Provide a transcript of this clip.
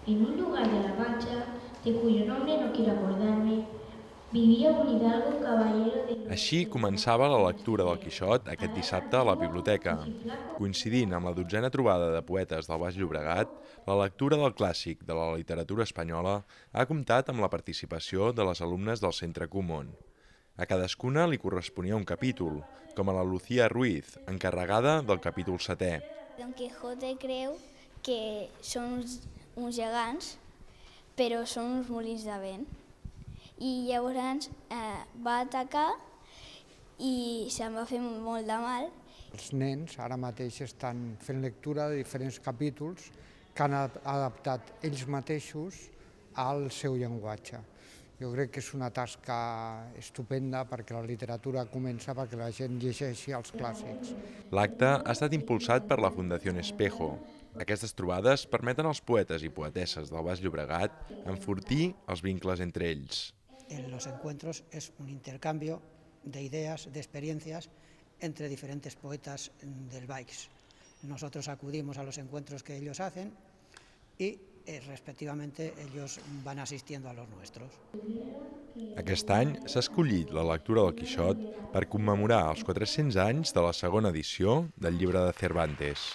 En un lugar de la Mancha, de cuyo nombre no quiero acordarme, vivia un hidalgo caballero de... Així començava la lectura del Quixot aquest dissabte a la biblioteca. Coincidint amb la 12a trobada de poetes del Baix Llobregat, la lectura del clàssic de la literatura espanyola ha comptat amb la participació de les alumnes del Centre Comón. A cadascuna li corresponia un capítol, com a la Lucía Ruiz, encarregada del capítol 7è. Don Quijote creu que són uns gegants, però són uns molins de vent. I llavors va atacar i se'n va fer molt de mal. Els nens ara mateix estan fent lectura de diferents capítols que han adaptat ells mateixos al seu llenguatge. Jo crec que és una tasca estupenda perquè la literatura comença perquè la gent llegeixi els clàssics. L'acte ha estat impulsat per la Fundació Espejo. Aquestes trobades permeten als poetes i poetesses del Baix Llobregat enfortir els vincles entre ells. En los encuentros es un intercambio de ideas, de experiencias entre diferentes poetas del Baix. Nosotros acudimos a los encuentros que ellos hacen y respectivamente ellos van asistiendo a los nuestros. Aquest any s'ha escollit la lectura del Quixot per commemorar els 400 anys de la segona edició del llibre de Cervantes.